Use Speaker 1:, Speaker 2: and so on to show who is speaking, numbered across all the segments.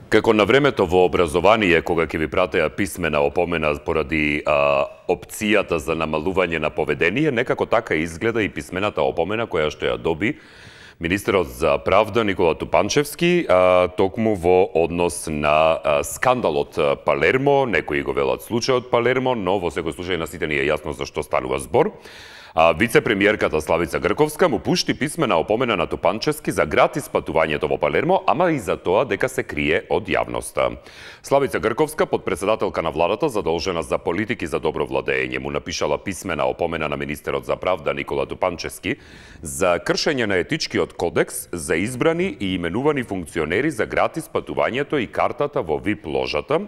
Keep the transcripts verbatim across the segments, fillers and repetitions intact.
Speaker 1: Како на времето во образование, кога ќе ви пратеа писмена опомена поради а, опцијата за намалување на поведение, некако така изгледа и писмената опомена која што ја доби министерот за правда Никола Тупанчевски, а, токму во однос на а, скандалот Палермо. Некои го велат случајот Палермо, но во секој случај на сите ни е јасно за што станува збор. А вице-премиерката Славица Грковска му пушти писмена опомена на Тупанчевски за гратис патувањето во Палермо, ама и за тоа дека се крие од јавноста. Славица Грковска, подпредседателка на владата задолжена за политики за добро владење, му напишала писмена опомена на министерот за правда Никола Тупанчевски за кршење на етичкиот кодекс за избрани и именувани функционери за гратис патувањето и картата во ви ай пи ложата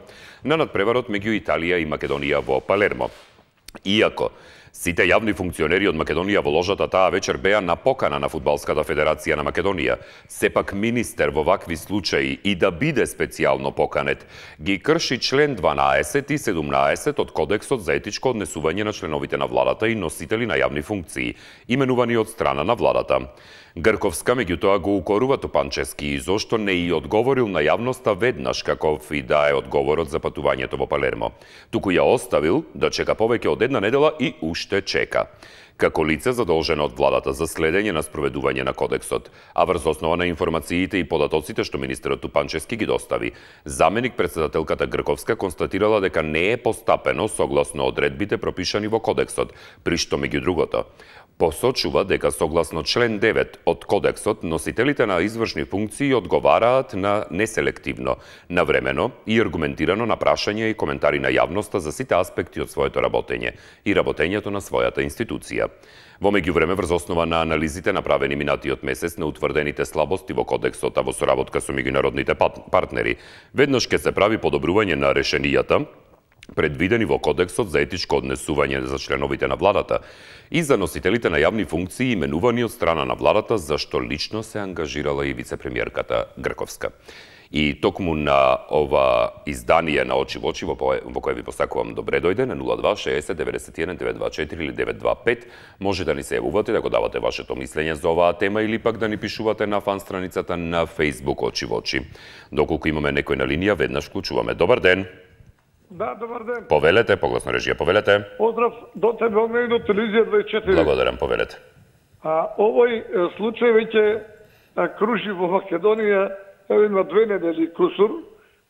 Speaker 1: на надпреварот меѓу Италија и Македонија во Палермо. Иако сите јавни функционери од Македонија во ложата таа вечер беа на покана на Фудбалската федерација на Македонија, сепак министер во вакви случаи и да биде специјално поканет, ги крши член дванаесет и седумнаесет од Кодексот за етичко однесување на членовите на владата и носители на јавни функции, именувани од страна на владата. Грковска меѓутоа го укорува Тупанчевски и зошто не и одговорил на јавноста веднаш каков и да е одговорот за патувањето во Палермо. Туку ја оставил да чека повеќе од една недела и уште чека. Како лице задолжено од владата за следење на спроведување на кодексот, а врз основа на информациите и податоците што министерот Тупанчевски ги достави, заменик председателката Грковска констатирала дека не е постапено согласно одредбите пропишани во кодексот, при што меѓу другото посочува дека согласно член девет од кодексот носителите на извршни функции одговараат на неселективно, навремено и аргументирано на прашања и коментари на јавноста за сите аспекти од своето работење и работењето на својата институција. Во меѓувреме, врз основа на анализите направени минатиот месец на утврдените слабости во кодексот, а во соработка со меѓународните партнери, веднаш ќе се прави подобрување на решенијата предвидени во Кодексот за етичко однесување за членовите на владата и за носителите на јавни функции именувани од страна на владата, за што лично се ангажирала и вице-премиерката Грковска. И токму на ова издание на Очи во очи, во кое ви посакувам добре дојде, на нула два шеесет деветдесет и еден деветстотини и дваесет и четири или деветстотини и дваесет и пет, може да ни се јавувате, да го давате вашето мислење за оваа тема или пак да ни пишувате на фан страницата на Facebook Очи во очи. Доколку имаме некој на линија, веднаш вклучуваме. Добар ден!
Speaker 2: Да, добар ден.
Speaker 1: Повелете, погласно режија, повелете.
Speaker 2: Поздрав до тебе, од мене до телевизија дваесет и четири.
Speaker 1: Благодарам, повелете.
Speaker 2: А, овој случај веќе кружи во Македонија има две недели кусур,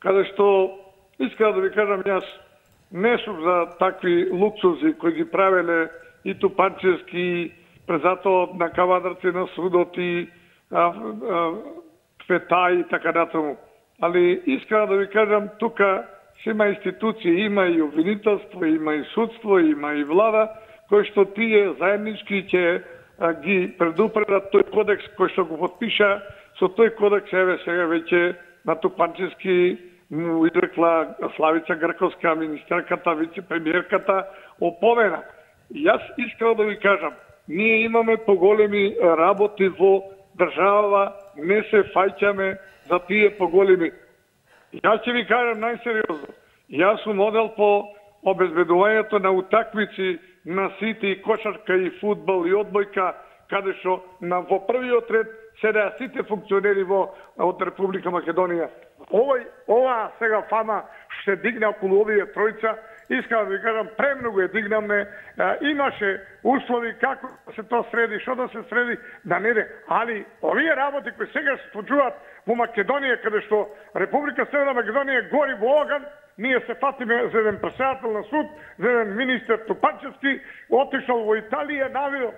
Speaker 2: каде што, искам да ви кажам, јас не сум за такви луксузи кои ги правеле и Тупанчевски, презато на кавадарци на судот и а, а, фета и така натаму. Али искам да ви кажам, тука има институции, има и обвинителство, има и судство, има и влада, кои што тие заеднички ќе ги предупредат тој кодекс кој што го подпиша. Со тој кодекс, еве сега веќе на Тупанчевски му изрекла Славица Грковска, министерката, вице-премиерката, опомена. Јас искам да ви кажам, ние имаме поголеми работи во држава, не се фаќаме за тие поголеми. Јас ќе ви кажам најсериозно. Јас сум одел по обезбедувањето на утакмици на сите и кошарка и фудбал и одбојка, каде што на во првиот ред седеа сите функционери во од Република Македонија. Овој ова сега фама што се дигна околу овие тројца, искам да ви кажам, премногу е дигнамне, имаше услови како се то среди, што да се среди, да не де. Али овие работи кои сега се случуваат во Македонија, каде што Република Северна Македонија гори во оган, ние се фатиме за еден председател на суд, за еден министер Тупанчевски, отишол во Италија, навио.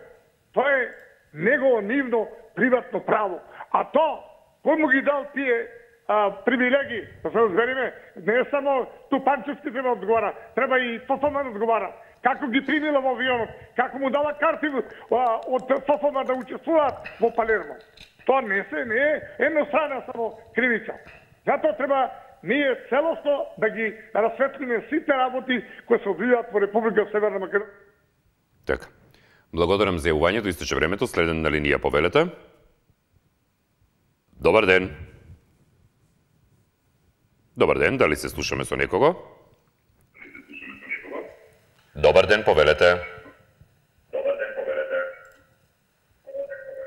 Speaker 2: Тоа е негово нивно приватно право. А то, кој му ги дал тие а, привилегии, да се разбериме, не е само Тупанчевски треба одговара, треба и ФФМ да одговара. Како ги примила во авионот, како му дала карти а, од ФФМ да учествуваат во Палермо. Тоа не се, не е еднострана само кривица. Затоа треба ние целосно да ги расветлиме сите работи кои се одвиваат во Република Северна Македонија.
Speaker 1: Така. Благодарам за јавувањето, истече времето, следен на линија, повелете. Добар ден. Добар ден, дали се слушаме со некого? Добар ден, повелете. Добар ден, повелете.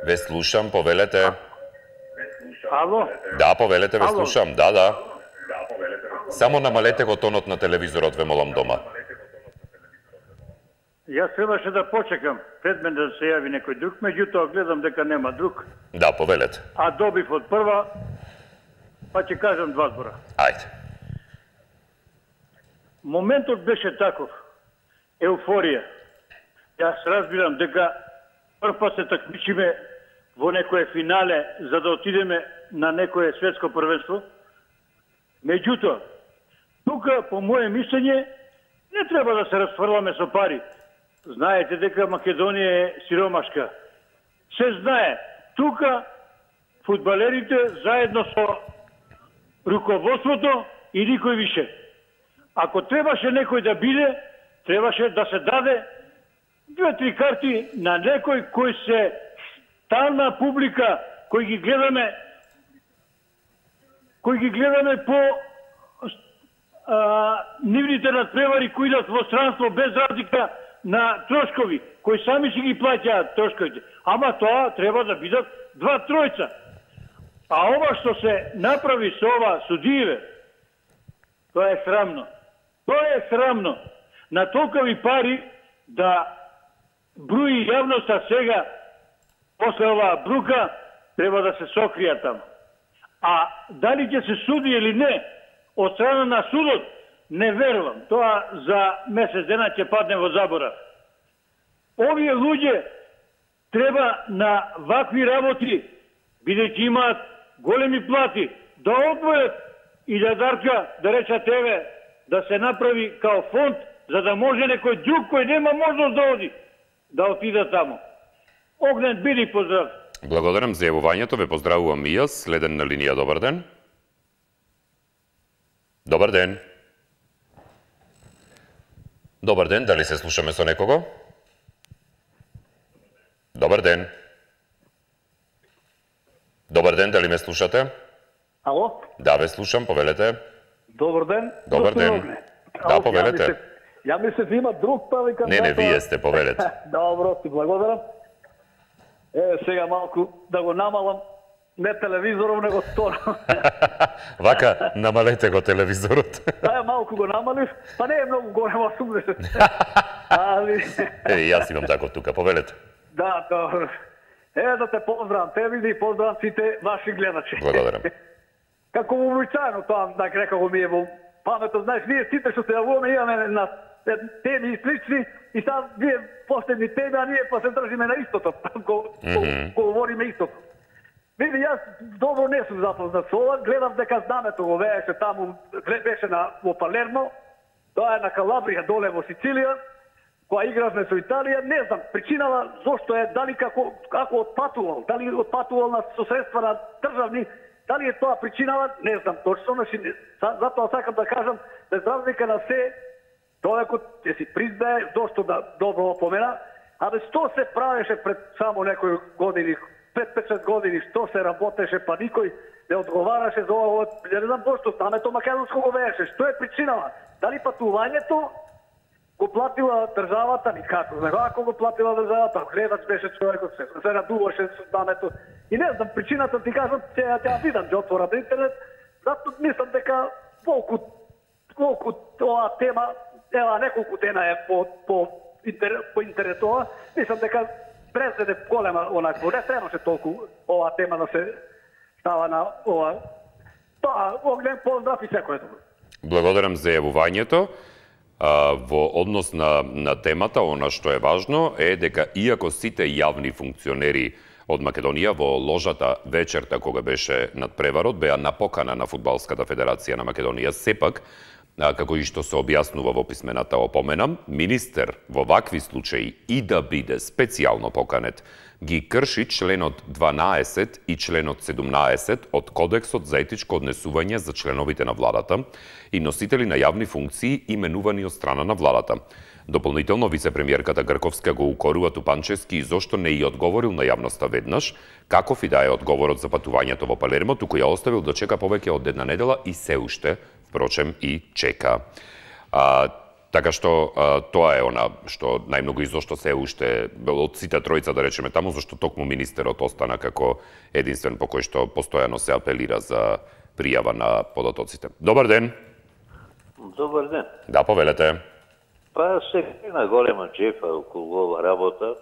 Speaker 1: Ве слушам, повелете.
Speaker 2: Ало?
Speaker 1: Да, повелете, ве
Speaker 2: Ало.
Speaker 1: слушам, да, да. Само намалете го тонот на телевизорот, ве молам дома.
Speaker 2: Јас требаше да почекам пред мен да се јави некој друг, меѓутоа гледам дека нема друг.
Speaker 1: Да, повелете.
Speaker 2: А добив од прва, па ќе кажам два збора.
Speaker 1: Ајде.
Speaker 2: Моментот беше таков. Еуфорија. Јас разбирам дека прв пат се такмичиме во некое финале за да отидеме на некое светско првенство. Меѓутоа, тука, по моје мислење, не треба да се расфрламе со пари. Знаете дека Македонија е сиромашка. Се знае. Тука фудбалерите заедно со руководството и никој више. Ако требаше некој да биде, требаше да се даде две-три карти на некој кој се стална публика, кој ги гледаме кој ги гледаме по а, нивните надпревари кои идат во странство без разлика на трошкови, кои сами си ги плаќаат трошковите. Ама тоа треба да бидат два тројца. А ова што се направи со ова судиеве, тоа е срамно. Тоа е срамно. На толкови пари да бруи јавноста сега, после оваа брука, треба да се сокрија таму. А дали ќе се суди или не, од страна на судот, не верувам. Тоа за месец дена ќе падне во заборав. Овие луѓе треба на вакви работи, бидејќи имаат големи плати, да одвојат и да дарка, да реча тебе, да се направи као фонд, за да може некој друг кој нема можност да оди, да отида таму. Огнен, биди поздрав.
Speaker 1: Благодарам за јавувањето, ве поздравувам и јас. Следен на линија, добар ден. Добар ден. Добар ден, дали се слушаме со некого? Добар ден. Добар ден, дали ме слушате?
Speaker 2: Ало?
Speaker 1: Да, ве слушам, повелете.
Speaker 2: Добар ден.
Speaker 1: Добар ден. Да, повелете.
Speaker 2: Ја мислев има друг па викам.
Speaker 1: Не, не, вие сте, повелете.
Speaker 2: Добро, ти благодарам. Е, сега малку да го намалам, не телевизоров, него тон.
Speaker 1: Вака, намалете го телевизорот.
Speaker 2: Таја малку го намалив, па не е многу голем, осумдесет. Али...
Speaker 1: Е, јас имам тако тука, повелете.
Speaker 2: Да, добро. Е, да те поздравам, те види и поздравам сите ваши гледачи.
Speaker 1: Благодарам.
Speaker 2: Како вообичаено тоа, да рекаго ми е во паметот, знаеш, ние сите што се јавуваме имаме на теми и слични, и сега вие последни теми, а ние па се држиме на истото, го, mm-hmm. го говориме истото. Види, јас добро не сум запознат со ова, гледам дека знамето го вееше таму, беше на, во Палермо, тоа е на Калабрија, доле во Сицилија, која игравме со Италија, не знам, причинава зошто е, дали како, како отпатувал, дали отпатувал на со средства на државни, дали е тоа причинава, не знам точно, значи, затоа сакам да кажам, без разлика на се, човекот ќе си признае зошто да добро опомена, а бе што се правеше пред само некои години, пет-пет години, што се работеше, па никој не одговараше за ова, не знам зошто, знамето македонско го вееше, што е причинава? Дали патувањето го платила државата, никако, ако го платила државата, гледач беше човекот, се, се радуваше со знамето. И не знам, причината ти кажам, че ја ја видам, ќе отворам интернет, затоа мислам дека колку, колку оваа тема, ева неколку дена е по, по, интер, по интернетова, мислам дека презеде голема онакво, не требаше толку оваа тема да се става на ова. Тоа, огнен поздрав и секој добро.
Speaker 1: Благодарам за јавувањето. А, во однос на, на темата, она што е важно е дека иако сите јавни функционери од Македонија во ложата вечерта кога беше надпреварот беа на покана на Фудбалската федерација на Македонија, сепак, а, како и што се објаснува во писмената опомена, министер во вакви случаи и да биде специјално поканет, ги крши членот дванаесет и членот седумнаесет од Кодексот за етичко однесување за членовите на владата и носители на јавни функции именувани од страна на владата. Дополнително, вице-премиерката Грковска го укорува Тупанчевски и зошто не ја одговорил на јавноста веднаш, каков и да е одговорот за патувањето во Палермо, туку ја оставил да чека повеќе од една недела и се уште впрочем, и чека. А, така што а, тоа е она што најмногу и зошто се уште од сите тројца, да речеме таму, зашто токму министерот остана како единствен по кој што постојано се апелира за пријава на податоците. Добар ден.
Speaker 3: Добар ден.
Speaker 1: Да, повелете.
Speaker 3: Па се на голема джефа околу ова работа.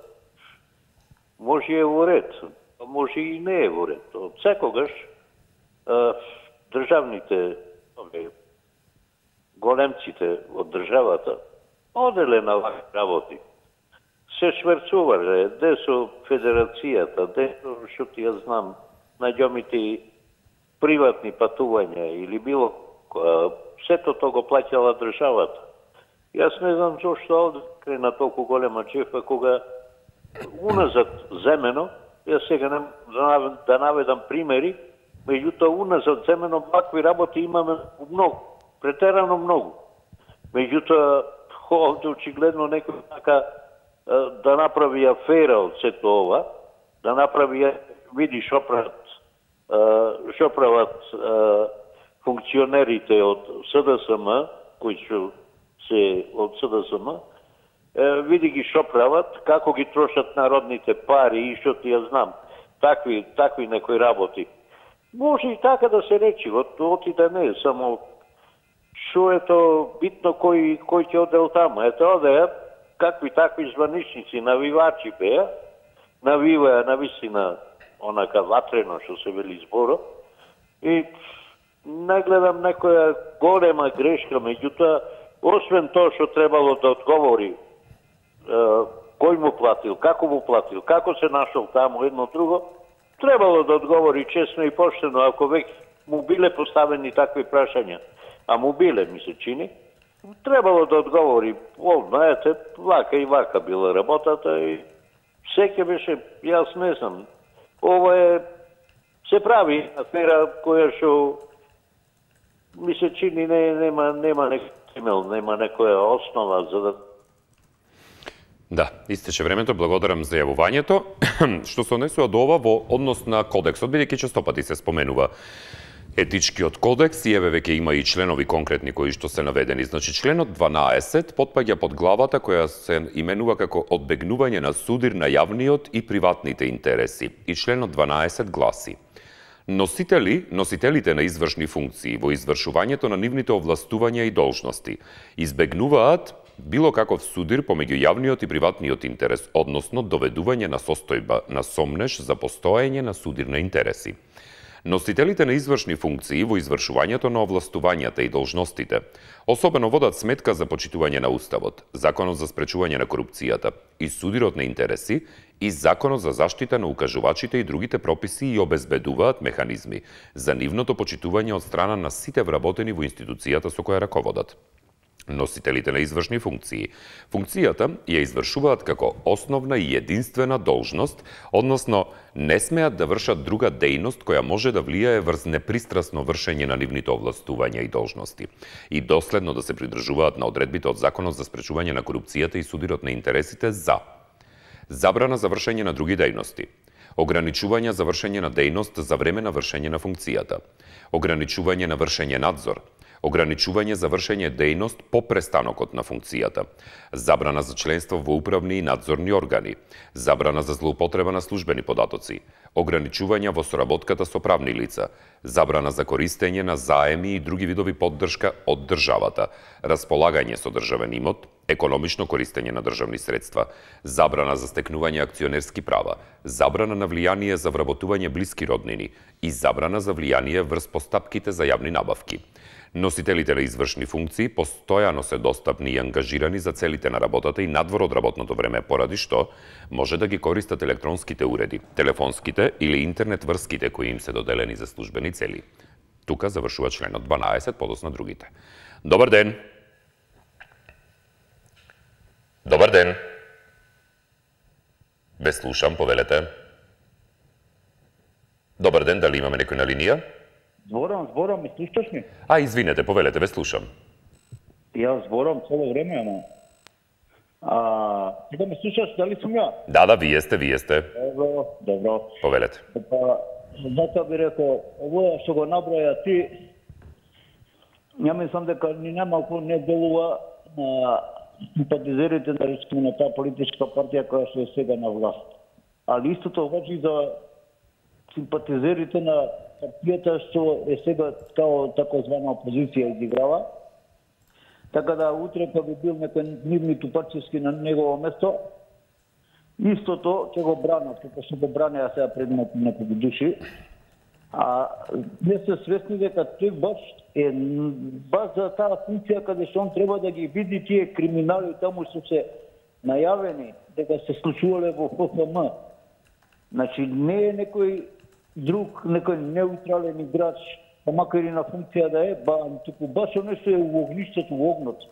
Speaker 3: Може е во ред, може и не е во ред. Од секогаш државните големците од државата оделе на вакви работи. Се шверцувале, де со федерацијата, де со, што ти ја знам, најдомите приватни патувања или било сето тоа го плаќала државата. Јас не знам зошто овде крена толку голема джефа кога уназад земено, јас сега не да наведам примери, меѓутоа уназад земено вакви работи имаме многу, претерано многу. Меѓутоа овде очигледно некој така да направи афера од сето ова, да направи, види шо прават, шо прават функционерите од СДСМ, кои што се од СДСМ, види ги шо прават, како ги трошат народните пари и што ти ја знам, такви, такви некои работи. Може и така да се речи, оти да не е, само шо е то битно кој, кој ќе одел таму. Ето одеја, какви такви званичници, навивачи беа, навиваја навистина онака ватрено, што се вели зборо, и не гледам некоја голема грешка, меѓутоа, освен тоа што требало да одговори е, кој му платил, како му платил, како се нашол таму, едно друго, требало да одговори честно и поштено, ако веќе му биле поставени такви прашања, а му биле, ми се чини, требало да одговори, о, знаете, вака и вака била работата и секе беше, јас не знам, ова е, се прави афера која што ми се чини не, нема, нема некој темел, нема некоја основа за да...
Speaker 1: Да, истече времето, благодарам за јавувањето. Што се однесува до ова во однос на кодексот, бидејќи често пати се споменува етичкиот кодекс и еве веќе има и членови конкретни кои што се наведени. Значи, членот дванаесет потпаѓа под главата која се именува како одбегнување на судир на јавниот и приватните интереси. И членот дванаесет гласи: Носители, носителите на извршни функции во извршувањето на нивните овластувања и должности избегнуваат било каков судир помеѓу јавниот и приватниот интерес, односно доведување на состојба на сомнеш за постоење на судир на интереси. Носителите на извршни функции во извршувањето на овластувањата и должностите особено водат сметка за почитување на Уставот, Законот за спречување на корупцијата и судирот на интереси и Законот за заштита на укажувачите и другите прописи и обезбедуваат механизми за нивното почитување од страна на сите вработени во институцијата со која раководат. Носителите на извршни функции функцијата ја извршуваат како основна и единствена должност, односно не смеат да вршат друга дејност која може да влијае врз непристрасно вршење на нивните овластувања и должности и доследно да се придржуваат на одредбите од Законот за спречување на корупцијата и судирот на интересите за забрана за вршење на други дејности, ограничување за вршење на дејност за време на вршење на функцијата, ограничување на вршење надзор, ограничување за вршење дејност по престанокот на функцијата, забрана за членство во управни и надзорни органи, забрана за злоупотреба на службени податоци, ограничување во соработката со правни лица, забрана за користење на заеми и други видови поддршка од државата, располагање со државен имот, економично користење на државни средства, забрана за стекнување акционерски права, забрана на влијание за вработување блиски роднини и забрана за влијание врз постапките за јавни набавки. Носителите на извршни функции постојано се достапни и ангажирани за целите на работата и надвор од работното време, поради што може да ги користат електронските уреди, телефонските или интернет врските кои им се доделени за службени цели. Тука завршува членот дванаесет, подосна другите. Добар ден! Добар ден! Ве слушам, повелете. Добар ден, дали имаме некој на линија?
Speaker 4: Зборам, зборам, ме слушаш ми?
Speaker 1: А, извинете, повелете, ве слушам.
Speaker 4: Јас зборам цело време, ама... А, ти да ме слушаш, дали сум ја?
Speaker 1: Да, да, вие сте, вие сте.
Speaker 4: Добро, добро.
Speaker 1: Повелете.
Speaker 4: Па, затоа би рекол, ово што го наброја ти, ја мислам дека ни немалку не делува на симпатизерите да речеме на таа политичка партија која што е сега на власт. Али истото важи за симпатизерите на партијата што е сега као такозвана опозиција изиграва. Така да утре кога би бил некој нивни тупачевски на негово место, истото ќе го бранат, како што го бранеа сега пред некои души. А не се свесни дека тој баш е баш за таа функција каде што он треба да ги види тие криминали таму што се најавени дека се случувале во П Ф М. Значи не е некој друг, некој неутрален играч, па макар и на функција да е, ба, туку баш нешто е во огништето, во огнот.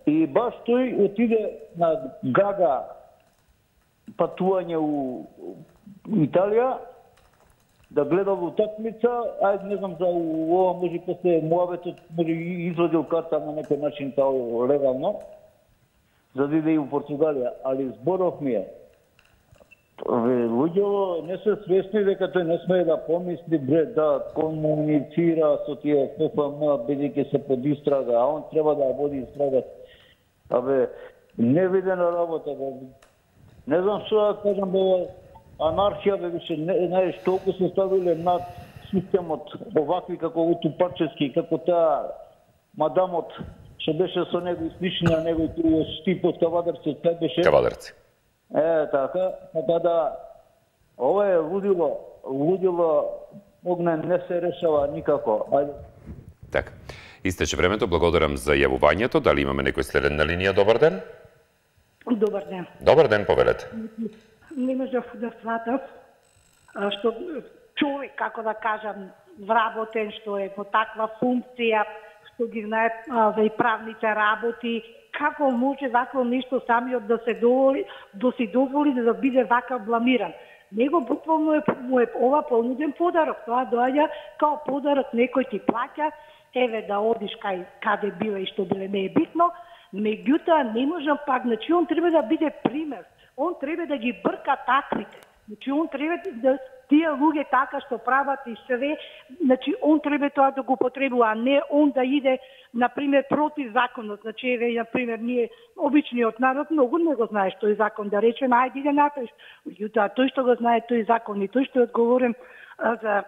Speaker 4: И баш тој отиде на Гага патување у Италија, да гледал утакмица, ајде не знам за ова може после муабетот може извадил карта на некој начин тао легално, за да иде и у Португалија, али зборов ми е. Луѓето не се свесни дека тој не смее да помисли, бре, да комуницира со тие П Ф М, бидејќи се под истрага, а он треба да води истрага. Абе, невидена работа, бе. Не знам што да кажам, бе, анархија, бе, више, не, знаеш, толку се ставиле над системот, овакви како Тупачевски, како таа мадамот, што беше со него и слични на него и тој Стипот Кавадарци, тај беше...
Speaker 1: Кавадарци.
Speaker 4: Е, така, така да, ова е лудило, лудило, огнен не се решава никако. Ајде.
Speaker 1: Така. Истече времето, благодарам за јавувањето. Дали имаме некој следен на линија? Добар ден.
Speaker 5: Добар ден.
Speaker 1: Добар ден, повелете.
Speaker 5: Не можев да сватам што човек, како да кажам, вработен, што е во таква функција, што ги знае за и правните работи, како може вакво нешто самиот да се доволи, да си дозволи да биде вака бламиран. Него буквално е, му е ова понуден подарок. Тоа доаѓа као подарок, некој ти плаќа, еве да одиш кај каде биле и што биле, не е битно, меѓутоа не можам пак, значи он треба да биде пример. Он треба да ги брка таквите. Значи он треба да тие луѓе така што прават и све, значи он треба тоа да го потребува, а не он да иде на пример против законот. Значи еве на пример ние обичниот народ многу не го знае тој закон, да речеме ајде иде натој. Меѓутоа тој што го знае тој закон и тој што е одговорен а, за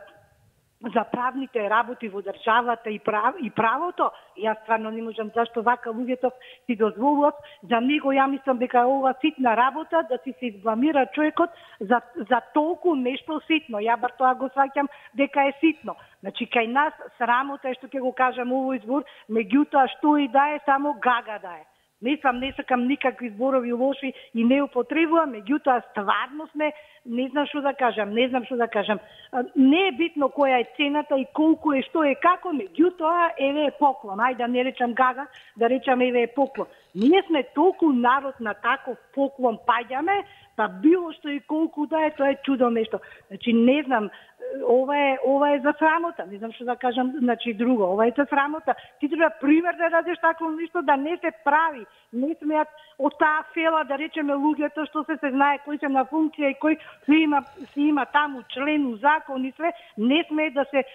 Speaker 5: за правните работи во државата и, прав, и правото, јас стварно не можам зашто вака луѓето си дозволуват, за него ја мислам дека е ова ситна работа, да си се избламира човекот за, за толку нешто ситно. Ја бар тоа го сваќам дека е ситно. Значи, кај нас срамота е што ќе го кажам овој збор, меѓутоа што и да е, само Гага да е. Не сам, не сакам никакви зборови лоши и не употребувам, меѓутоа стварно сме, не знам што да кажам, не знам што да кажам. Не е битно која е цената и колку е, што е, како, меѓутоа еве е поклон. Ајде да не речам Гага, да речам еве е поклон. Ние сме толку народ на таков поклон паѓаме, па било што и колку да е, тоа е чудо нешто. Значи не знам, ова е ова е за срамота, не знам што да кажам, значи друго, ова е за срамота. Ти треба пример да дадеш такво нешто, да не се прави. Не смеат од таа фела да речеме луѓето што се се знае кој се на функција и кој се има се има таму член у закон и све, не смее да се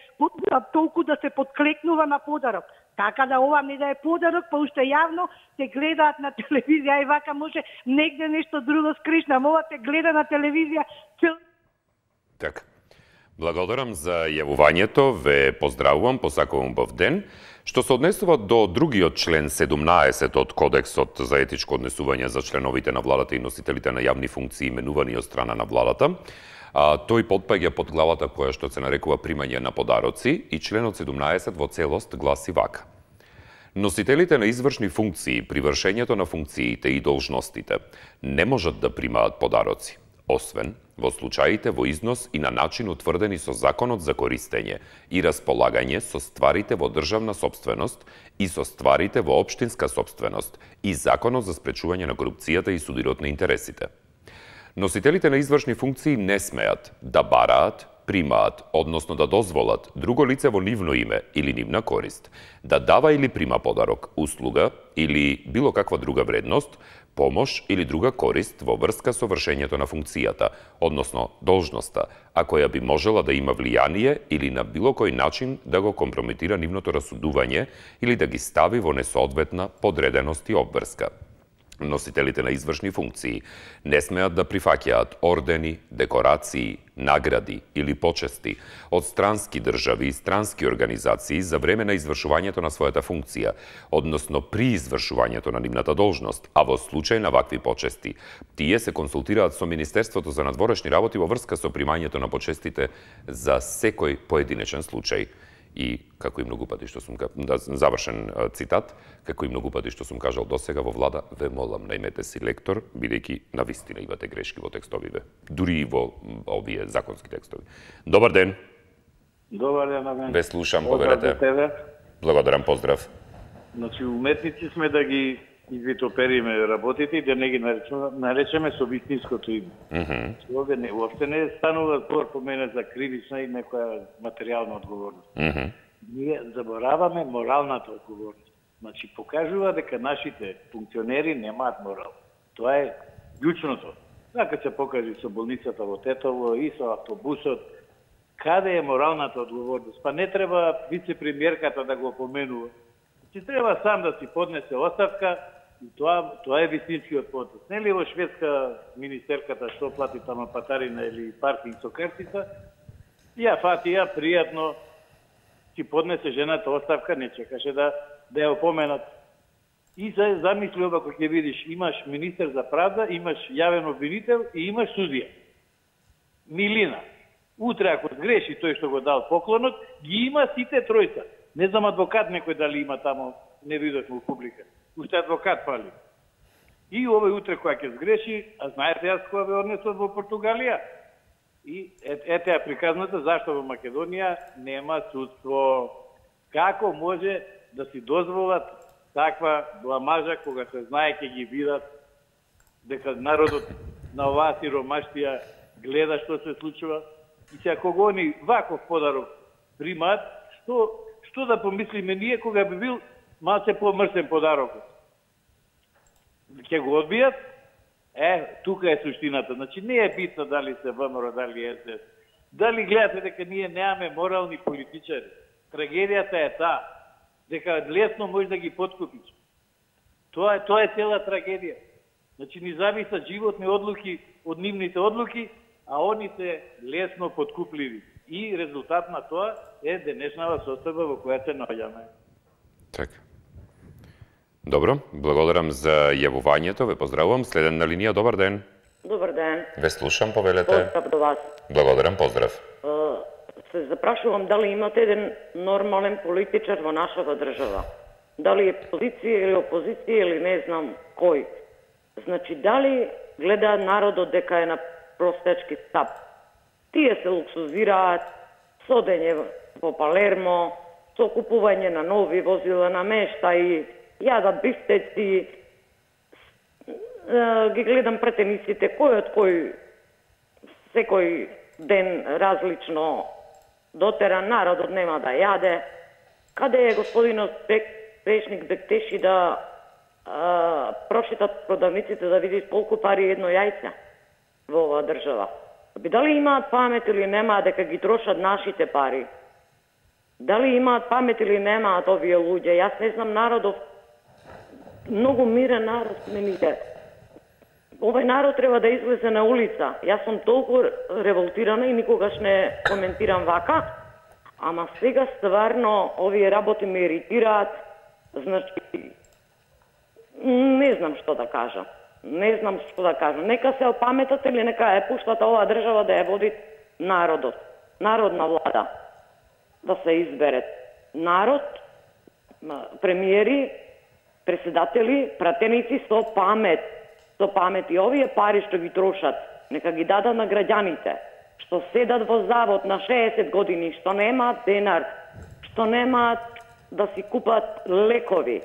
Speaker 5: толку да се подклекнува на подарок. Така да ова не да е подарок, па уште јавно се гледаат на телевизија и вака може негде нешто друго скришна, ова те гледа на телевизија цел...
Speaker 1: Така. Благодарам за јавувањето, ве поздравувам, посакувам убав ден. Што се однесува до другиот член седумнаесет од Кодексот за етичко однесување за членовите на владата и носителите на јавни функции именувани од страна на владата, а, тој потпаѓа под главата која што се нарекува примање на подароци и членот седумнаесет во целост гласи вака. Носителите на извршни функции при вршењето на функциите и должностите не можат да примаат подароци, освен во случаите во износ и на начин утврдени со Законот за користење и располагање со стварите во државна сопственост и со стварите во општинска сопственост и Законот за спречување на корупцијата и судирот на интересите. Носителите на извршни функции не смеат да бараат, примаат, односно да дозволат друго лице во нивно име или нивна корист, да дава или прима подарок, услуга или било каква друга вредност, помош или друга корист во врска со вршењето на функцијата, односно должноста, а која би можела да има влијание или на било кој начин да го компрометира нивното расудување или да ги стави во несоодветна подреденост и обврска. Носителите на извршни функции не смеат да прифаќаат ордени, декорации, награди или почести од странски држави и странски организации за време на извршувањето на својата функција, односно при извршувањето на нивната должност, а во случај на вакви почести, тие се консултираат со Министерството за надворешни работи во врска со примањето на почестите за секој поединечен случај. И, како и многу пати што сум, да, завршен цитат, како и многу пати што сум кажал досега во влада, ве молам, најмете си лектор, бидејќи навистина имате грешки во текстовиве, дури и во овие законски текстови. Добар ден.
Speaker 6: Добар ден на мен.
Speaker 1: Ве слушам, повелете. Благодарам, поздрав.
Speaker 6: Значи, уметници сме да ги извитопериме работите и да не ги наречеме, наречеме со вистинското име.
Speaker 1: Mm-hmm.
Speaker 6: Овде не, уопште не станува збор по мене за кривична и некоја материјална одговорност.
Speaker 1: Mm-hmm.
Speaker 6: Ние забораваме моралната одговорност. Значи, покажува дека нашите функционери немаат морал. Тоа е клучното. Така се покажи со болницата во Тетово и со автобусот. Каде е моралната одговорност? Па не треба вице-премиерката да го поменува. Значи, треба сам да си поднесе оставка. И тоа, тоа е вистинскиот потез. Нели во Шведска министерката што плати тама патарина или паркинг со картица, ја фати ја пријатно си поднесе жената оставка, не чекаше да да ја опоменат. И се замисли оба кога ќе видиш, имаш министер за правда, имаш јавен обвинител и имаш судија. Милина. Утре ако сгреши тој што го дал поклонот, ги има сите тројца. Не знам адвокат некој дали има тамо, не видовме у публика. Уште адвокат фали. И овој утре која ќе сгреши, а знаете јас која ве однесот во Португалија. И ете ја приказната зашто во Македонија нема судство. Како може да си дозволат таква бламажа кога се знае ќе ги видат дека народот на оваа сиромаштија гледа што се случува и се кога они ваков подарок примаат, што што да помислиме ние кога би бил малце помрсен подарокот. Ќе го одбијат? Е, тука е суштината. Значи, не е битно дали се ВМРО, дали Ес Де Ес. Дали гледате дека ние немаме морални политичари. Трагедијата е таа, дека лесно може да ги подкупиш. Тоа е, тоа е цела трагедија. Значи, ни зависат животни одлуки од нивните одлуки, а они се лесно подкупливи. И резултат на тоа е денешнава состојба во која се наоѓаме.
Speaker 1: Така. Добро, благодарам за јавувањето, ве поздравувам. Следен на линија, добар ден.
Speaker 7: Добар ден.
Speaker 1: Ве слушам, повелете.
Speaker 7: Поздрав до вас.
Speaker 1: Благодарам, поздрав.
Speaker 7: Се запрашувам дали имате еден нормален политичар во нашата држава. Дали е позиција или опозиција или не знам кој. Значи, дали гледа народот дека е на простечки стап. Тие се луксузираат, со дење во Палермо, со купување на нови возила на мешта и јадат бифтеци, ги гледам претениците, кој од кој секој ден различно дотера, народот нема да јаде. Каде е господинот Пешник Бектеши да а, прошетат продавниците да види колку пари едно јајце во оваа држава? Би дали имаат памет или немаат дека ги трошат нашите пари? Дали имаат памет или немаат овие луѓе? Јас не знам, народов многу мирен народ не ми е. Овој народ треба да излезе на улица. Јас сум толку револтирана и никогаш не коментирам вака, ама сега стварно овие работи ме иритираат. Значи, не знам што да кажам. Не знам што да кажам. Нека се опаметат или нека ја пуштат оваа држава да ја води народот. Народна влада. Да се избере. Народ, премиери, председатели, пратеници со памет. Со памет и овие пари што ги трошат, нека ги дадат на граѓаните, што седат во завод на шеесет години, што немаат денар, што немаат да си купат лекови.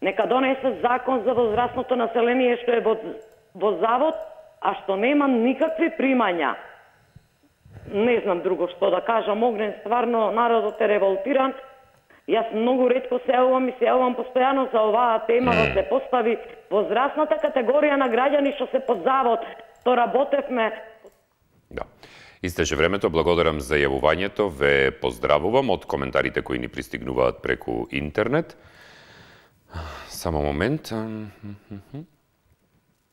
Speaker 7: Нека донесат закон за возрастното население што е во, во завод, а што нема никакви примања. Не знам друго што да кажам, огнен, стварно народот е револтиран Јас многу ретко се јавувам и се јавувам постојано за оваа тема да се постави возрастната категорија на граѓани што се под завод, што работевме.
Speaker 1: Да. Истече времето, благодарам за јавувањето, ве поздравувам од коментарите кои ни пристигнуваат преку интернет. Само момент.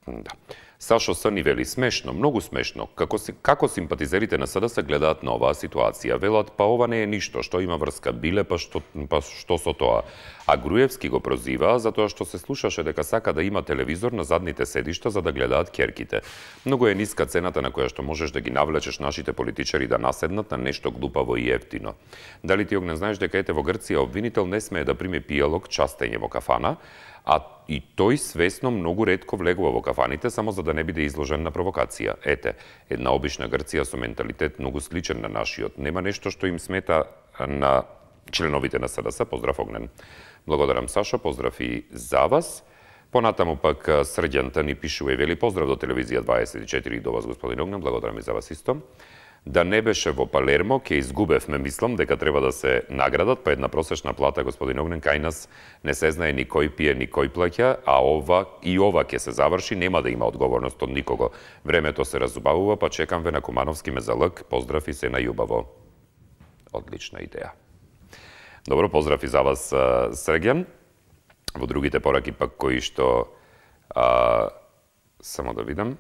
Speaker 1: Да. Сашо Сани вели смешно, многу смешно. Како, си, како симпатизерите на СДС гледаат на оваа ситуација? Велат, па ова не е ништо, што има врска биле, па што, па што со тоа? А Груевски го прозива затоа што се слушаше дека сака да има телевизор на задните седишта за да гледаат ќерките. Многу е ниска цената на која што можеш да ги навлечеш нашите политичари да наседнат на нешто глупаво и ефтино. Дали ти не знаеш дека ете во Грција обвинител не смее да приме пијалок частење во кафана, а и тој свесно многу ретко влегува во кафаните само за да не биде изложен на провокација. Ете, една обична Грција со менталитет многу сличен на нашиот. Нема нешто што им смета на членовите на СДС. Поздрав, Огнен. Благодарам, Сашо. Поздрав и за вас. Понатаму пак Срđan ни пишува и вели поздрав до телевизија дваесет и четири и до вас, господин Огнен. Благодарам и за вас исто. Да не беше во Палермо, ќе изгубевме, мислам, дека треба да се наградат, па една просечна плата, господин Огнен, кај нас не се знае ни кој пие, ни кој плаќа, а ова и ова ќе се заврши, нема да има одговорност од никого. Времето се разубавува, па чекам ве на Кумановски мезалък. Поздрав и се најубаво. Одлична идеја. Добро, поздрав и за вас, Срđan. Во другите пораки пак кои што а, само да видам.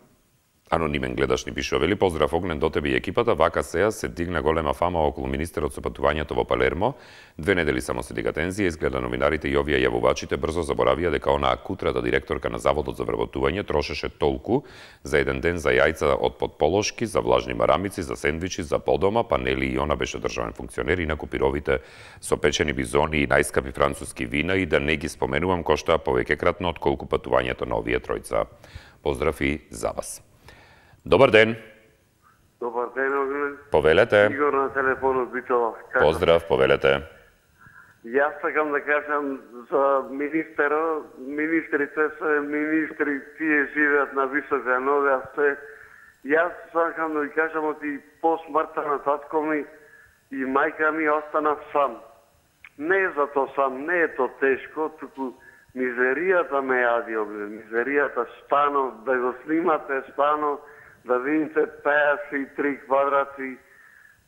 Speaker 1: Анонимен гледаш ни пишува, вели поздрав, Огнен, до тебе и екипата. Вака сеја се дигна голема фама околу министерот со патувањето во Палермо. Две недели само се дига тензија, изгледа новинарите и овие јавувачите брзо заборавија дека онаа кутрата директорка на заводот за вработување трошеше толку за еден ден за јајца од подполошки, за влажни марамици, за сендвичи, за подома, па нели и она беше државен функционер, инаку пировите со печени бизони и најскапи француски вина и да не ги споменувам коштаа повеќекратно од колку патувањето на овие тројца. Поздрав и за вас. Добар ден.
Speaker 8: Добар ден, Огнен.
Speaker 1: Повелете.
Speaker 8: Игор на телефонот Битола.
Speaker 1: Поздрав, повелете.
Speaker 8: Јас сакам да кажам за министерот, министрите се министри, тие живеат на висока нога, се. Јас сакам да ви кажам од и по смртта на татко ми и мајка ми остана сам. Не е за то сам, не е то тешко, туку мизеријата ме јади, Огнен. Мизеријата стано, да го снимате стано, да видите петдесет и три квадрати,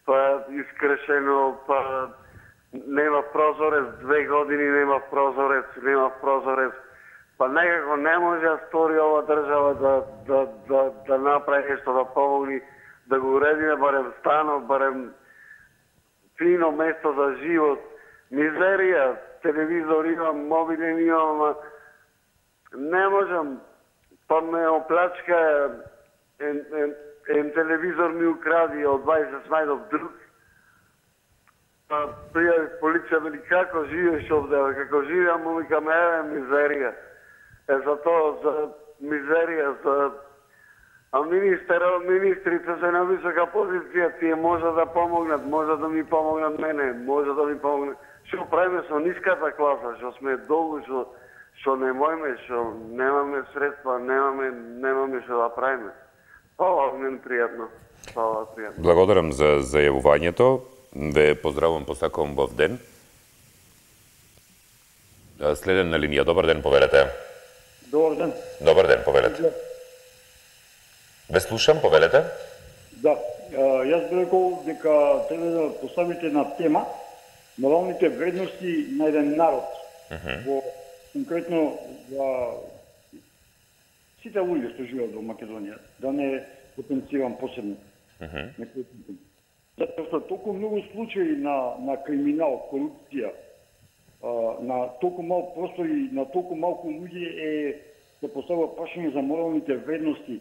Speaker 8: па искрешено, па нема прозорец, две години нема прозорец, нема прозорец, па некако не може да стори ова држава да, да, да, да направи нешто, да помогни, да го уредиме барем стано, барем фино место за живот. Мизерија, телевизор имам, мобилен имам, ама не можам, па ме оплачка, ен, ен, ен телевизор ми укради, од дваесет најдов друг. Па пријави полиција, вели како живееш овде, како живеам, му викам, еве мизерија. Е за тоа, за мизерија, за... А министерот, министрите се на висока позиција, тие може да помогнат, може да ми помогнат мене, може да ми помогнат. Што правиме со ниската класа, што сме долу, што што не можеме, што немаме средства, немаме, немаме што да правиме. Фала, мен пријатно. Фала, пријатно.
Speaker 1: Благодарам за зајавувањето. Ве поздравувам, посакувам бов ден. Следен на линија. Добар ден, повелете.
Speaker 9: Добар ден.
Speaker 1: Добар ден, повелете. Ве слушам, повелете.
Speaker 9: Да, јас би рекол дека треба да поставите на тема моралните вредности на еден народ. Uh-huh. Во конкретно за сите луѓе што живеат во Македонија, да не потенцирам посебно. Uh-huh. Затоа што толку многу случаи на, на криминал, корупција, на толку мал простори, на толку малку луѓе е се поставува прашање за моралните вредности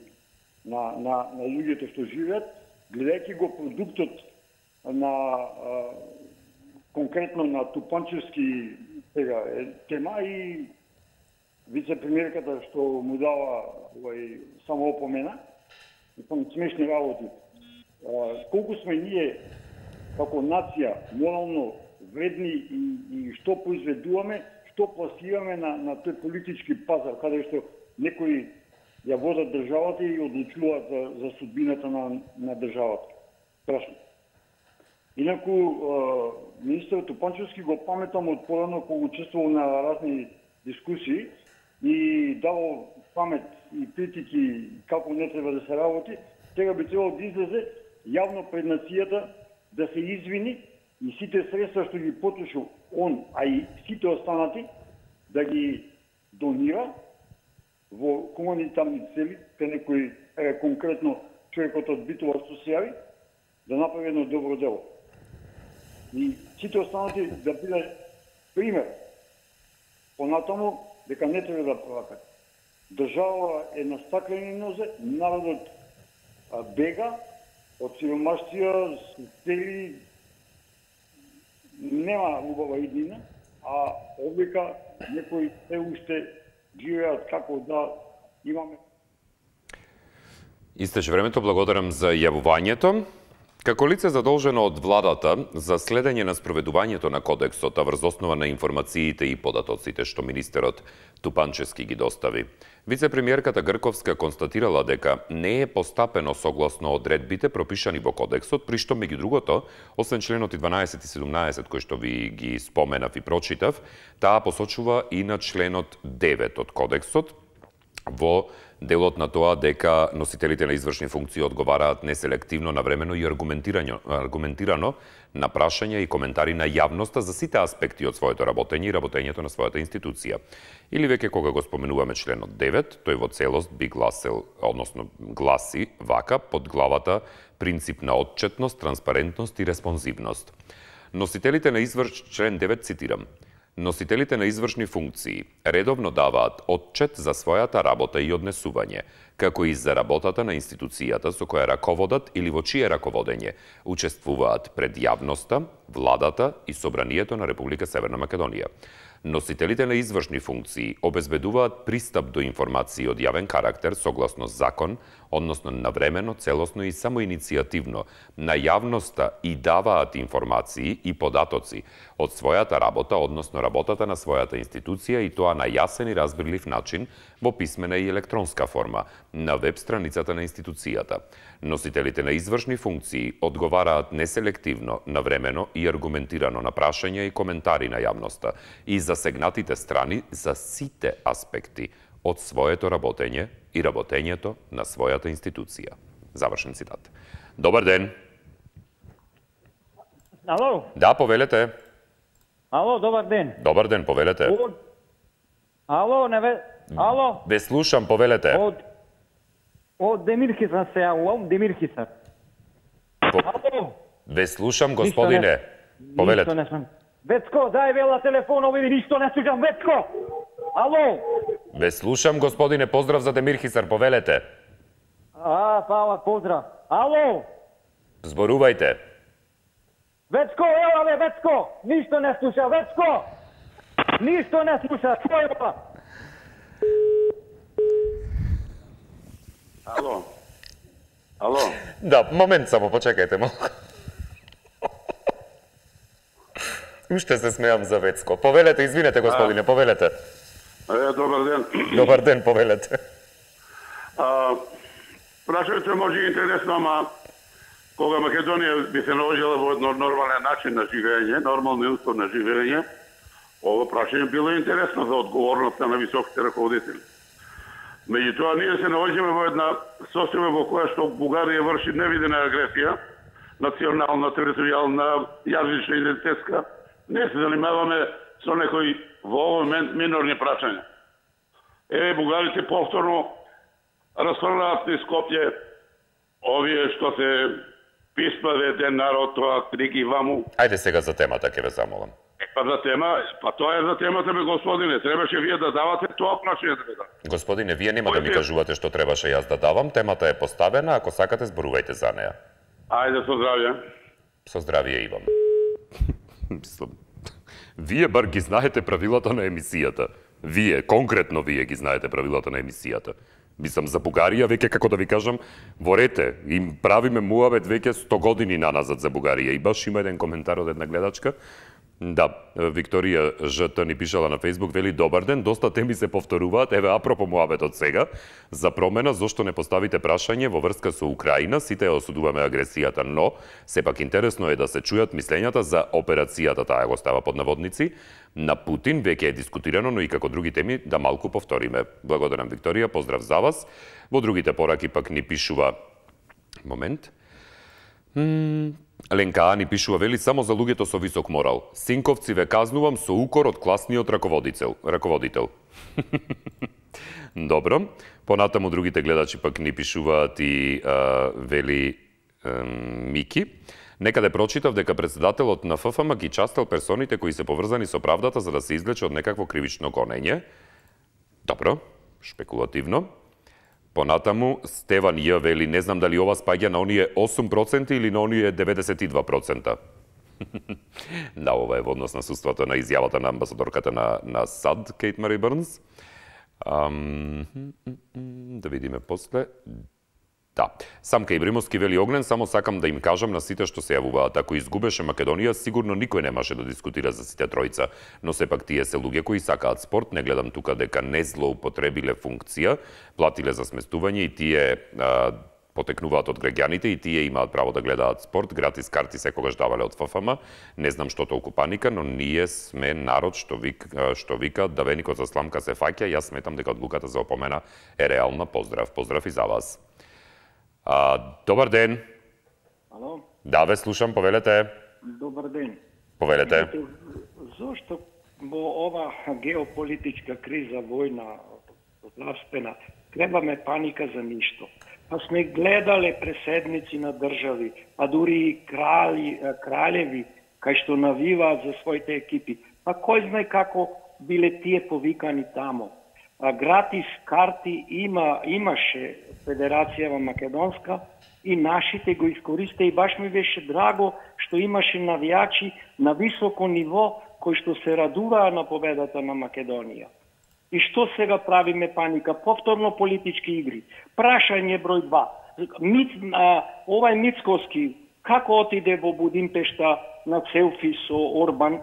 Speaker 9: на, на, на луѓето што живеат, гледајќи го продуктот на а, конкретно на Тупанчевски сега тема и вице-премиерката што му дава овај само опомена, и смешни работи. А, колку сме ние како нација морално вредни и, и што произведуваме, што пласираме на, на тој политички пазар, каде што некои ја водат државата и одлучуваат за, за судбината на, на државата. Страшно. Инаку, министерот Тупанчевски го паметам од порано кога учествувал на разни дискусии и давал памет и критики како не треба да се работи, сега би требало да излезе јавно пред нацијата да се извини и сите средства што ги потрошил он, а и сите останати, да ги донира во хуманитарни цели, кај некој е, конкретно човекот од Битола што се јави, да направи едно добро дело. И сите останати да биде пример понатаму дека не треба да плакат. Држава е на стаклени нозе, народот а, бега од сиромаштија, цели нема убава иднина, а овдека некои се уште живеат како да имаме.
Speaker 1: Истече времето, благодарам за јавувањето. Како лице задолжено од владата за следење на спроведувањето на кодексот, а врз основа на информациите и податоците што министерот Тупанчевски ги достави, вице-премиерката Грковска констатирала дека не е постапено согласно одредбите пропишани во кодексот, при што меѓу другото, освен членот дванаесет и седумнаесет кои што ви ги споменав и прочитав, таа посочува и на членот девет од кодексот во делот на тоа дека носителите на извршни функции одговараат неселективно, навремено и аргументирано, аргументирано на прашања и коментари на јавноста за сите аспекти од своето работење и работењето на својата институција. Или веќе кога го споменуваме членот девет, тој во целост би гласел, односно гласи вака под главата принцип на отчетност, транспарентност и респонзивност. Носителите на изврш член девет цитирам: Носителите на извршни функции редовно даваат отчет за својата работа и однесување, како и за работата на институцијата со која раководат или во чие раководење учествуваат пред јавноста, владата и собранието на Република Северна Македонија. Носителите на извршни функции обезбедуваат пристап до информации од јавен карактер согласно закон, односно навремено, целосно и самоиницијативно на јавноста и даваат информации и податоци од својата работа, односно работата на својата институција, и тоа на јасен и разбирлив начин во писмена и електронска форма на веб страницата на институцијата. Носителите на извршни функции одговараат неселективно, навремено и аргументирано на прашања и коментари на јавноста и засегнатите страни за сите аспекти од своето работење и работењето на својата институција. Завршен цитат. Добар ден.
Speaker 10: Ало?
Speaker 1: Да, повелете.
Speaker 10: Ало, добар ден.
Speaker 1: Добар ден, повелете.
Speaker 10: Од... Ало, не ве... Ало?
Speaker 1: Ве слушам, повелете.
Speaker 10: Од... Од Демирхисар се јавувам, Демирхисар.
Speaker 1: По...
Speaker 10: Ало?
Speaker 1: Ве слушам, господине. Повелете.
Speaker 10: Ништо не сум. Вецко, дај вела телефонов или ништо не слушам, Вецко! Ало?
Speaker 1: Ве слушам, господине, поздрав за Демирхисар, повелете.
Speaker 10: А, фала, поздрав. Ало?
Speaker 1: Зборувајте.
Speaker 10: Вецко, ела бе, Вецко! Ништо не слуша, Вецко! Ништо не слуша, чуј.
Speaker 8: Ало? Ало?
Speaker 1: Да, момент само, почекајте малку. Уште се смеам за Вецко. Повелете, извинете, господине, повелете.
Speaker 8: Е, добар ден.
Speaker 1: Добар ден, повелете.
Speaker 8: А, прашањето може интересно, ама кога Македонија би се наложила во едно нормален начин на живење, нормални услови на живење, ово прашање било интересно за одговорноста на високите раководители. Меѓутоа, ние се наоѓаме во една состојба во која што Бугарија врши невидена агресија, национална, територијална, јазична, идентитетска. Не се занимаваме со некои во овој момент минорни прашања. Еве, бугарите повторно расфрлаат низ Скопје овие што се писма ден народ, тоа триги ваму.
Speaker 1: Ајде сега за темата, ќе ве замолам.
Speaker 8: Е, па за тема, па тоа е за темата, бе, господине. Требаше вие да давате тоа прашање да дадам.
Speaker 1: Господине, вие нема да ми кажувате што требаше јас да давам. Темата е поставена, ако сакате зборувајте за неа.
Speaker 8: Ајде, со здравје.
Speaker 1: Со здравје и вам. Мислам, вие бар ги знаете правилата на емисијата. Вие, конкретно вие ги знаете правилата на емисијата. Мислам, за Бугарија, веќе, како да ви кажам, во рете, им правиме муабет веќе сто години наназад за Бугарија. И баш има еден коментар од една гледачка, Да, Викторија ЖТ ни пишала на Фейсбук, вели добар ден, доста теми се повторуваат, еве апропо муабетот сега, за промена, зошто не поставите прашање во врска со Украина, сите ја осудуваме агресијата, но сепак интересно е да се чујат мислењата за операцијата, таа го става под наводници, на Путин, веќе е дискутирано, но и како други теми да малку повториме. Благодарам Викторија, поздрав за вас. Во другите пораки пак ни пишува момент. М Ленка ни пишува, вели, само за луѓето со висок морал. Синковци ве казнувам со укор од класниот раководител. раководител. Добро. Понатаму другите гледачи пак ни пишуваат и а, вели а, Мики. Некаде прочитав дека председателот на ФФМ ги частел персоните кои се поврзани со правдата за да се извлече од некакво кривично гонење. Добро, шпекулативно. Понатаму, Стеван Ј. вели, не знам дали ова спаѓа на оние осум проценти или на оние деветдесет и два проценти. Да, ова е во однос на суството на изјавата на амбасадорката на, на САД, Кейт Мари Бърнс. Ам, да видиме после. Да. Самка Ибримовски вели Огнен, само сакам да им кажам на сите што се јавуваат. Ако изгубеше Македонија, сигурно никој немаше да дискутира за сите тројца. Но сепак тие се луѓе кои сакаат спорт, не гледам тука дека не злоупотребиле функција, платиле за сместување и тие а, потекнуваат од граѓаните и тие имаат право да гледаат спорт, гратис карти секогаш давале од ФФМ. Не знам што толку паника, но ние сме народ што вика, што вика да веникот за сламка се фаќа. Јас сметам дека одлуката за опомена е реална. Поздрав, поздрав и за вас. А, добар ден.
Speaker 11: Ало?
Speaker 1: Да, ве слушам, повелете.
Speaker 11: Добар ден.
Speaker 1: Повелете.
Speaker 11: Зошто во ова геополитичка криза, војна, здравствена, требаме паника за ништо? Па сме гледале преседници на држави, па дури и крали, кралеви, кај што навиваат за своите екипи. Па кој знае како биле тие повикани тамо? А гратис карти има, имаше Федерацијава Македонска и нашите го искористе и баш ми беше драго што имаше навијачи на високо ниво кои што се радуваа на победата на Македонија. И што сега правиме паника? Повторно политички игри. Прашање број два. Миц, а, овај Мицковски како отиде во Будимпешта на селфи со Орбан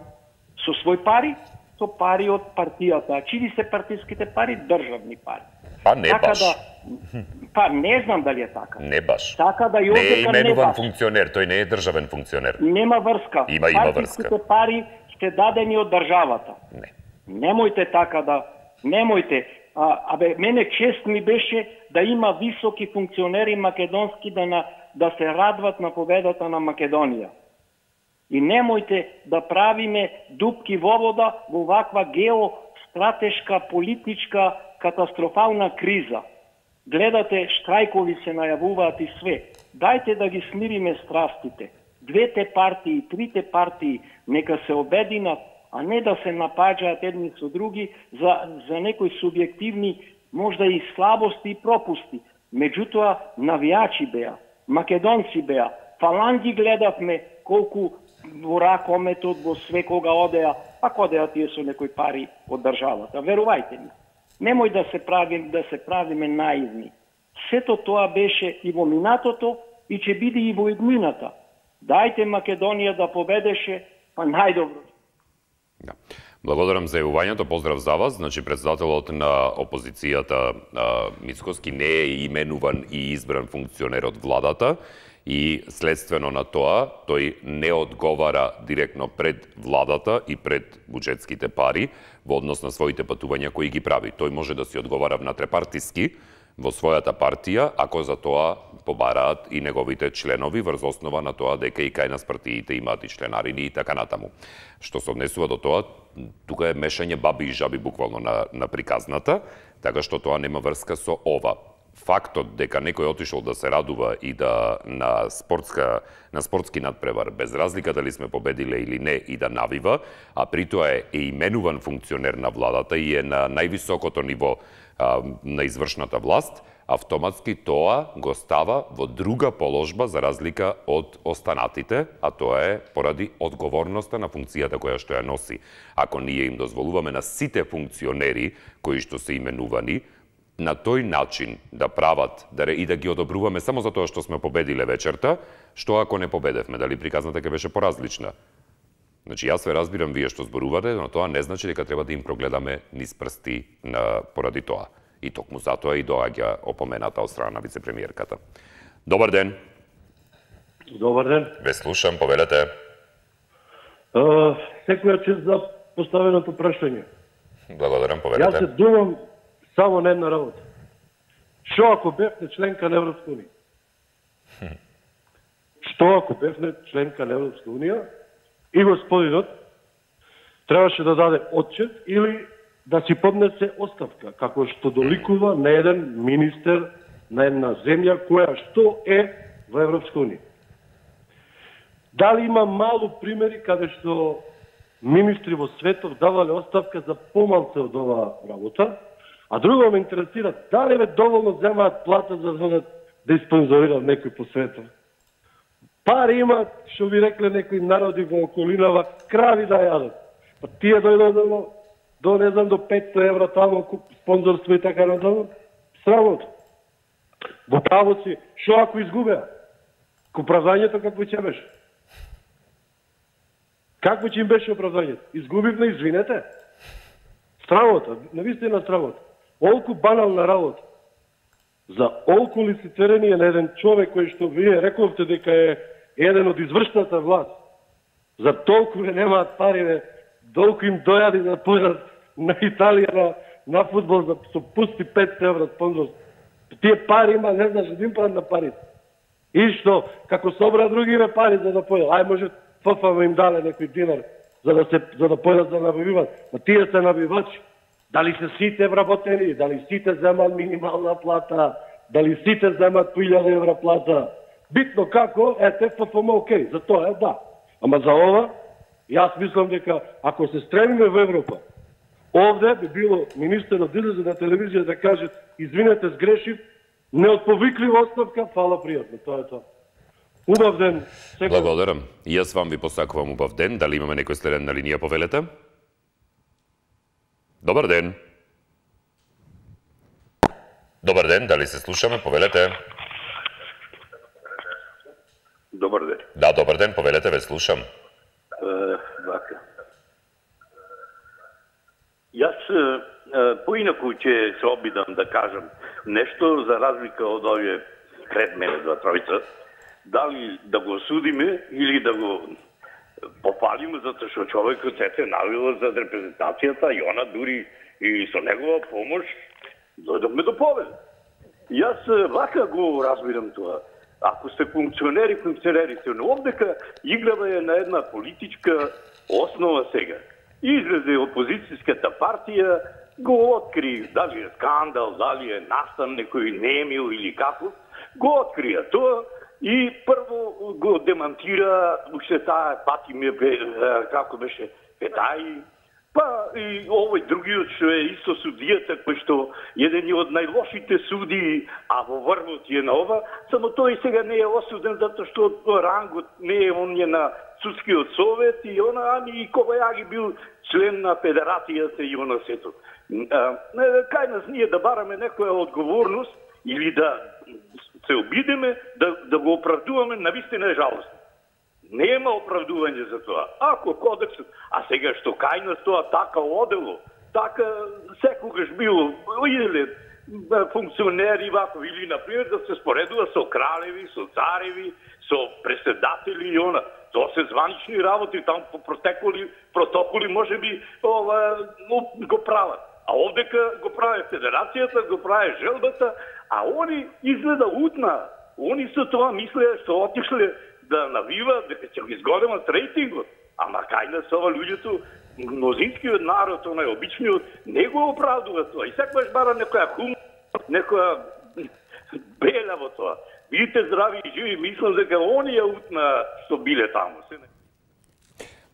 Speaker 11: со свој пари? Со пари од партијата. Чии се партиските пари? Државни пари.
Speaker 1: Па не
Speaker 11: така
Speaker 1: баш.
Speaker 11: Да, па не знам дали е така.
Speaker 1: Не баш.
Speaker 11: Така да и
Speaker 1: не е именуван
Speaker 11: не
Speaker 1: функционер, тој не е државен функционер.
Speaker 11: Нема врска.
Speaker 1: Има, има врска.
Speaker 11: Партиските пари сте дадени од државата.
Speaker 1: Не.
Speaker 11: Немојте така да... Немојте. А, абе, мене чест ми беше да има високи функционери македонски да, на, да се радват на победата на Македонија. И немојте да правиме дупки во вода во ваква геостратешка, политичка, катастрофална криза. Гледате, штрајкови се најавуваат и све. Дајте да ги смириме страстите. Двете партии, трите партии, нека се обединат, а не да се напаѓаат едни со други за, за некои субјективни, можда и слабости и пропусти. Меѓутоа, навијачи беа, македонци беа, фаланги гледавме колку во ракометот, во све кога одеа, пак одеа тие со некои пари од државата. Верувајте ми. Немој да се правим, да се правиме наивни. Сето тоа беше и во минатото и ќе биде и во иднината. Дајте Македонија да победеше, па најдобро.
Speaker 1: Да. Благодарам за јавувањето, поздрав за вас. Значи, председателот на опозицијата Мицковски не е именуван и избран функционер од владата и следствено на тоа тој не одговара директно пред владата и пред буџетските пари во однос на своите патувања кои ги прави. Тој може да си одговара внатре-партиски во својата партија, ако за тоа побараат и неговите членови врз основа на тоа дека и кај нас партиите имаат и членарини и така натаму. Што се однесува до тоа, тука е мешање баби и жаби буквално на, на приказната, така што тоа нема врска со ова. Фактот дека некој отишол да се радува и да на спортска на спортски надпревар, без разлика дали сме победиле или не, и да навива, а при тоа е, е именуван функционер на владата и е на највисокото ниво а, на извршната власт, автоматски тоа го става во друга положба за разлика од останатите, а тоа е поради одговорноста на функцијата која што ја носи. Ако ние им дозволуваме на сите функционери кои што се именувани на тој начин да прават да и да ги одобруваме само за тоа што сме победиле вечерта, што ако не победевме, дали приказната ќе беше поразлична? Значи, јас ве разбирам вие што зборувате, но тоа не значи дека треба да им прогледаме низ прсти на, поради тоа. И токму затоа и доаѓа опомената од страна на вице-премиерката. Добар ден.
Speaker 12: Добар ден.
Speaker 1: Ве слушам, повелете.
Speaker 12: Uh, секоја чест за поставеното прашање.
Speaker 1: Благодарам, повелете.
Speaker 12: Јас се думам само на една работа. Што ако бевте членка на Европска унија? Што ако бевте членка на Европска унија и господинот требаше да даде отчет или да си поднесе оставка, како што доликува на еден министер на една земја која што е во Европска унија. Дали има мало примери каде што министри во светот давале оставка за помалце од оваа работа, а друго ме интересира дали ве доволно земаат плата за да да испонзорираат некој по светот. Пари имаат, што ви рекле некои народи во околинава, крави да јадат. Па тие дојдат до, до не знам, до петстотини евра тамо, спонзорство и така натаму. Срамота. Во право си, што ако изгубеа? Оправдањето какво ќе беше? Какво ќе им беше оправдањето? Изгубивме, извинете. Срамота, навистина срамота. Олку банална работа. За олку лицицирање на еден човек кој што вие рековте дека е еден од извршната власт. За толку не немаат пари, долку им дојади да појдат на Италија на, на фудбал за со пусти петстотини евра спонзор. Тие пари има, не знаш, един пат на парите. И што, како собра другиве пари за да појдат, ај може ФФ им дале некој динар за да се за да појдат да набиват. Ма тие се набивачи. Дали се сите вработени, дали сите земат минимална плата, дали сите земат по илјада евра плата. Битно како, ете, ФФМ окей, за тоа е да. Ама за ова, јас мислам дека ако се стремиме во Европа, овде би било министерот да излезе на телевизија да каже извинете, сгрешив, неотповиклива оставка, фала пријатно, тоа е тоа. Убав ден. Секој...
Speaker 1: Благодарам. И јас вам ви посакувам убав ден. Дали имаме некој следен на линија, повелете? Добар ден. Добар ден, дали се слушаме, повелете?
Speaker 13: Добар ден.
Speaker 1: Да, добар ден, повелете, ве слушам.
Speaker 13: Uh, вака. Јас uh, поинаку ќе се обидам да кажам нешто за разлика од овие пред мене два тројца. Дали да го осудиме или да го попалиме, затоа што човекот сете навила за репрезентацијата и она дури и со негова помош дојдовме до победа. Јас вака го разбирам тоа. Ако сте функционери, функционери се, но овдека играва е на една политичка основа сега. Излезе опозицијската партија, го откри, дали е скандал, дали е настан некој немил или како, го открија тоа и прво го демантира, уште таа пати ме, како беше, Петај, па и овој другиот што е исто судијата, кој што еден од најлошите судии, а во врвот е на ова, само тој сега не е осуден затоа што рангот не е он е на судскиот совет и она, ами и Кобајаги бил член на федерацијата и она сето. Кај нас ние да бараме некоја одговорност или да се обидеме да, да го оправдуваме, навистина е жалост. Нема оправдување за тоа. Ако кодексот, а сега што кај нас тоа така одело, така секогаш било, или функционери вако, или, например, да се споредува со кралеви, со цареви, со преседатели и она. Тоа се званични работи, таму по протоколи, протоколи може би ова, го прават. А овдека го прави федерацијата, го прави желбата, а они изгледа утна. Они со тоа мислеа што отишле да навиват, дека ќе го изгодемат рейтингот. Ама кај нас ова луѓето, мнозинскиот народ, онај обичниот, не го оправдува тоа. И секогаш бара некоја хум, некоја беля во тоа. Бидите здрави и живи, мислам дека оние утна што биле таму.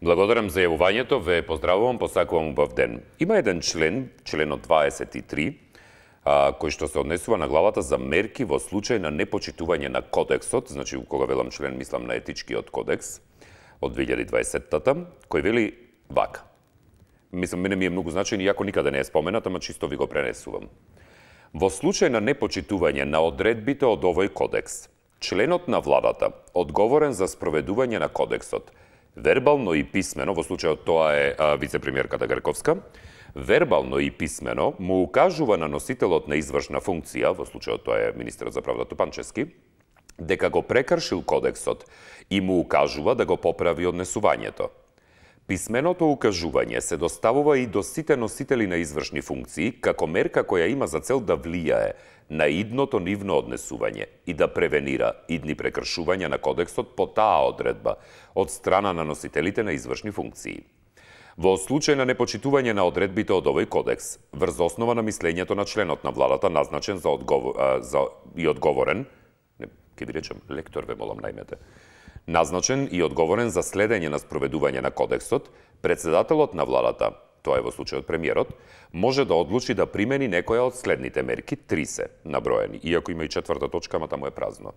Speaker 1: Благодарам за јавувањето, ве поздравувам, посакувам убав ден. Има еден член, членот дваесет и три, а, кој што се однесува на главата за мерки во случај на непочитување на кодексот, значи кога велам член, мислам на етичкиот кодекс од две илјади и дваесеттата, кој вели вака. Мислам, мене ми е многу значајен, иако никаде не е споменат, ама чисто ви го пренесувам. Во случај на непочитување на одредбите од овој кодекс, членот на владата, одговорен за спроведување на кодексот, Вербално и писмено, во случајот тоа е а, вице-премиерката Грковска, вербално и писмено му укажува на носителот на извршна функција, во случајот тоа е министерот за правда Тупанчевски, дека го прекршил кодексот и му укажува да го поправи однесувањето. Писменото укажување се доставува и до сите носители на извршни функции како мерка која има за цел да влијае на идното нивно однесување и да превенира идни прекршувања на кодексот по таа одредба од страна на носителите на извршни функции. Во случај на непочитување на одредбите од овој кодекс, врз основа на мислењето на членот на владата назначен за, одговор, а, за и одговорен, не, ке ви речем, лектор ве молам најмете, назначен и одговорен за следење на спроведување на кодексот, председателот на владата, тоа е во случајот премиерот, може да одлучи да примени некоја од следните мерки, три се наброени, иако има и четврта точка, ама таму е празно.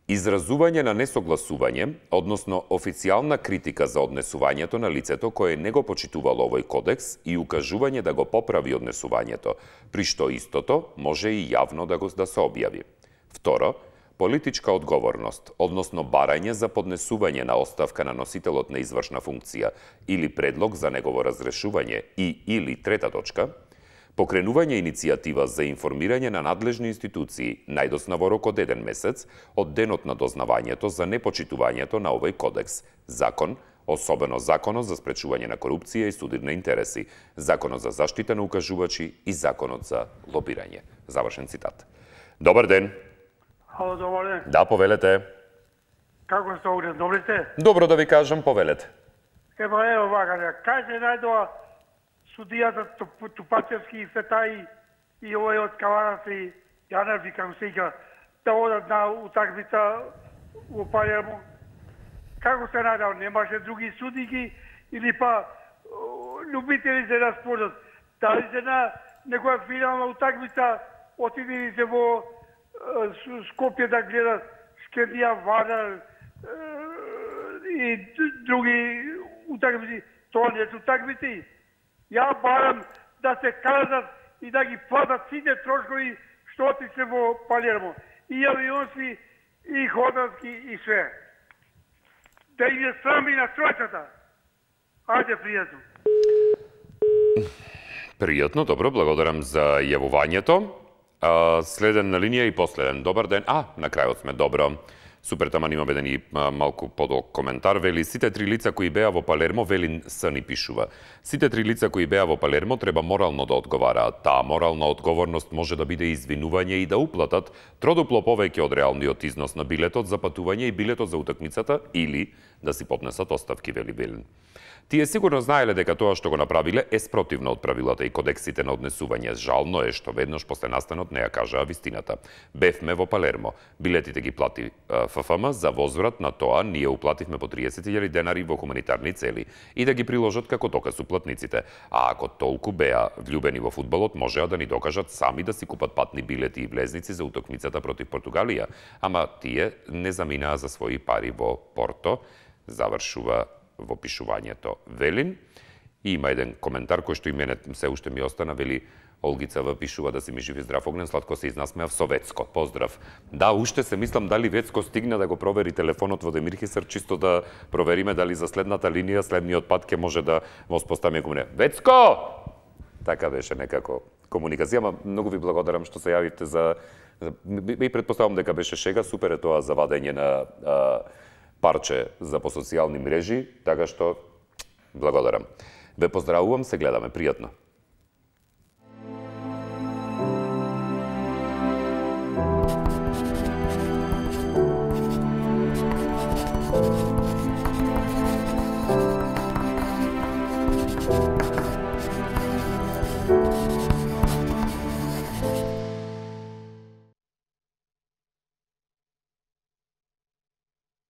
Speaker 1: Изразување на несогласување, односно официјална критика за однесувањето на лицето кое не го почитувало овој кодекс и укажување да го поправи однесувањето, при што истото може и јавно да го да се објави. Второ, политичка одговорност, односно барање за поднесување на оставка на носителот на извршна функција или предлог за негово разрешување и или трета точка, покренување иницијатива за информирање на надлежни институции најдосна во рок од еден месец од денот на дознавањето за непочитувањето на овој кодекс, закон, особено законот за спречување на корупција и судир на интереси, законот за заштита на укажувачи и законот за лобирање. Завршен цитат. Добар ден.
Speaker 14: Ало, добар ден.
Speaker 1: Да, повелете.
Speaker 14: Како сте огнен, добри сте?
Speaker 1: Добро да ви кажам, повелете.
Speaker 14: Ева, ева, вака, кај се најдоа судијата Тупачевски и Фетаи и овој од Каварац и Јанев и како се ика, да одат на утакмица во Палермо? Како се најдоа? Немаше други судики или па любители се да спорат? Дали се на некоја финална утакмица отидени се во Скопје да гледат Скендија, Вардар и други утакмици? Тоа не се утакмици. Ја барам да се кажат и да ги платат сите трошкови што отишле во Палермо. И авионски, и хотелски, и све. Да им е срам и на тројката. Ајде, пријатно.
Speaker 1: Пријатно, добро, благодарам за јавувањето. Следен на линија и последен. Добар ден. А, на крајот сме, добро. Супер, таман имам еден и малку подолг коментар. Вели, сите три лица кои беа во Палермо, Велин С ни пишува. Сите три лица кои беа во Палермо треба морално да одговараат. Таа морална одговорност може да биде извинување и да уплатат тродупло повеќе од реалниот износ на билетот за патување и билетот за утакмицата или да си поднесат оставки, вели Велин. Тие сигурно знаеле дека тоа што го направиле е спротивно од правилата и кодексите на однесување. Жално е што веднаш после настанот не ја кажаа вистината. Бевме во Палермо. Билетите ги плати Ф Ф М, за возврат на тоа ние уплативме по триесет илјади денари во хуманитарни цели и да ги приложат како доказ уплатниците. А ако толку беа влюбени во фудбалот, можеа да ни докажат сами да си купат патни билети и влезници за утакмицата против Португалија, ама тие не заминаа за своји пари во Порто. Завршува во пишувањето Велин. И има еден коментар кој што и мене се уште ми остана, вели Олгица В пишува да си ми жив и здрав огнен, сладко се изнасмеав со Вецко. Поздрав. Да, уште се мислам дали Вецко стигна да го провери телефонот во Демирхисар, чисто да провериме дали за следната линија, следниот пат ќе може да во споставиме комуне. Вецко! Така беше некако комуникација, ама многу ви благодарам што се јавивте за... И предпоставам дека беше шега, супер е тоа за вадење на а, парче за по социјални мрежи, така што благодарам. Ве поздравувам, се гледаме, пријатно.